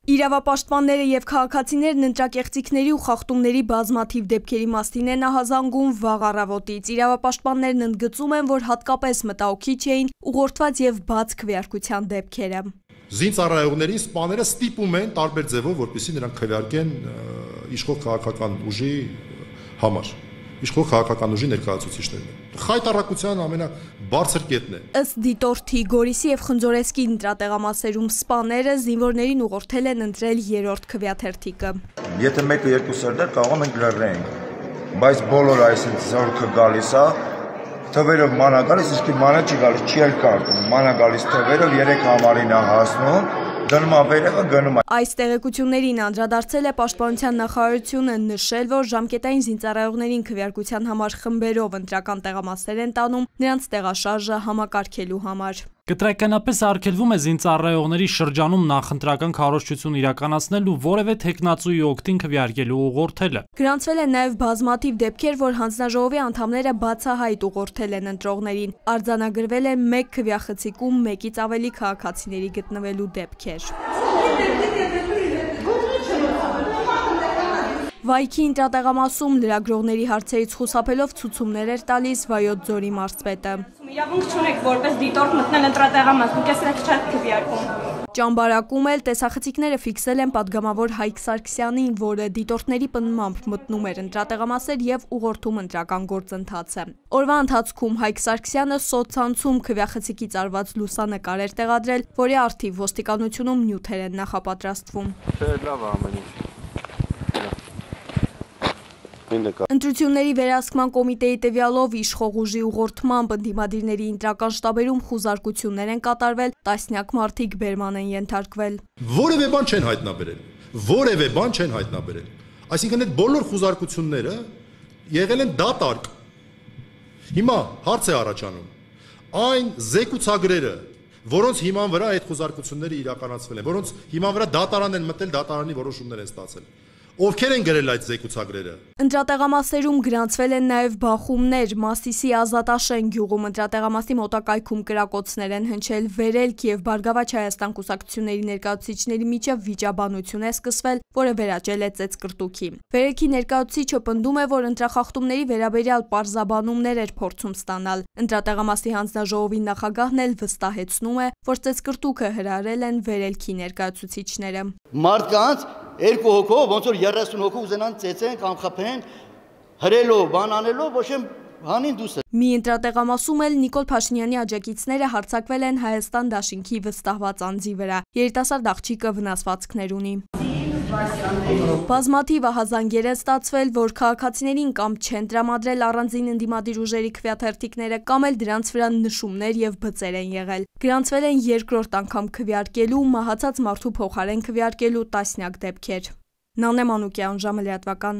Իրավապաշտպանները և քաղաքացիներն ընտրակեղծիքների ու խախտումների բազմաթիվ դեպքերի մասին են ահազանգում վաղ առավոտից։ Իրավապաշտպաններն ընդգծում են, որ հատկապես մտահոգիչ էին ուղղորդված և բաց քվեարկության դեպքերը։ Զինծառայողներին սպաները ստիպում են տարբեր ձևով, որպեսզի նրանք քվեարկեն իշխող քաղաքական ուժի համար, իշխող քաղաքական ուժի ներկայացուցիչներն։ Խայտառակության ամենաբարձր կետն է։ Ըստ դիտորդի Գորիսի և Խնձորեսկի ընտրատեղամասերում սպաները զինվորներին ուղղորդել են ընտրել երրորդ քվեաթերթիկը։ Եթե 1-2 սերներ կարող ենք լռենք, բայց բոլոր այս զորքը գալիս է, թվերով ման է գալիս, իսկ ման չի գալիս, չի էլ կարտում, ման է գալիս թվերով 3 համարին է հասնում, դնում է վերևը, գնում է։ Այս տեղեկություններին անդրադարձել է Պաշտպանության նախարարությունը, նշել, որ ժամկետային զինծառայողներին քվեարկության համար խմբերով ընտրական տեղամասեր են տանում, նրանց տեղաշարժը համակարգելու համար։ Կտրականապես արգելվում է զինծառայողների շրջանում նախընտրական քարոզչություն իրականացնել ու որևէ թեկնածուի օգտին քվեարկելու ուղղորդելը։ Գրանցվել են նաև բազմաթիվ դեպքեր, որ հանձնաժողովի անդամները բացահայտ ուղղորդել են ընտրողներին։ Արձանագրվել է 1 քվեախցիկում 1-ից ավելի քաղաքացիների գտնվելու դեպքեր։ Վայքի ընտրատեղամասում լրագրողների հարցերից խուսափելով ցուցումներ էր տալիս Վայոց ձորի մարզպետը։ Իրավունք չունեք որպես դիտորդ մտնել ընտրատեղամաս, դուք էս չեք քվեարկում։ Ճամբարակում էլ տեսախցիկները ֆիքսել են падգամավոր Հայկ Սարգսյանին, որը դիտորդների պնդմամբ մտնում էր ընտրատեղամասեր և ուղղորդում ընտրական գործընթացը։ Օրվա ընթացքում Հայկ Սարգսյանը սոցցանցում քվեախցիկից արված լուսանկար էր տեղադրել, որի առթիվ ոստիկանությունում նյութեր են նախապատրաստվում։ Լավ է ամեն ինչ։ Ընտրությունների վերահսկման կոմիտեի տվյալով իշխող ուժի ուղղորդմամբ ընդդիմադիրների ընտրական շտաբերում խուզարկություններ են կատարվել, տասնյակ մարդիկ բերման են ենթարկվել։ Որևէ բան չեն հայտնաբերել։ Այսինքն այդ բոլոր խուզարկությունները եղել են դատարկ։ Հիմա հարց է առաջանում. այն զեկուցագրերը, որոնց հիման վրա այդ խուզարկությունները իրականացվել են, որոնց հիման վրա դատարան են մտել, դատարանի որոշումներ են ստացել։ Ովքեր են գրել այդ զեկուցագրերը։ Ընտրատեղամասերում գրանցվել են նաև բախումներ։ Մասիսի Ազատաշեն գյուղում ընտրատեղամասի մոտակայքում կրակոցներ են հնչել, Վերելք և Բարգավաճ Հայաստան կուսակցությունների ներկայացուցիչների միջև վիճաբանություն է սկսվել, որը վերաճել է ծեծկռտուքի։ Վերելքի ներկայացուցիչը պնդում է, որ ընտրախախտումների վերաբերյալ պարզաբանումներ էր փորձում ստանալ։ Ընտրատեղամասի հանձնաժողովի նախագահն էլ վստահեցնում է, որ ծեծկռտուքը հրահրել են Վերելքի ներկայացուցիչները։ Մարդկանց 2 հոգով, ոնց որ 30 հոգով ուզենան ծեծեն կամ խփեն, հրելով, բան անելով, ոչ եմ հանին դուսը։ Մի ընտրատեղամասում էլ Նիկոլ Փաշինյանի աջակիցները հարձակվել են Հայաստան դաշինքի վստահված անձի վրա։ Երիտասարդ աղջիկը վնասվածքներ ունի։ Բազմաթիվ ահազանգեր են ստացվել, որ քաղաքացիներին կամ չեն տրամադրել առանձին ընդդիմադիր ուժերի քվեաթերթիկները, կամ էլ դրանց վրա նշումներ և բծեր են եղել։ Գրանցվել են երկրորդ անգամ քվեարկելու, մահացած մարդու փոխարեն քվեարկելու տասնյակ դեպքեր։ Նանե Մանուկյան, ժամը լրատվական։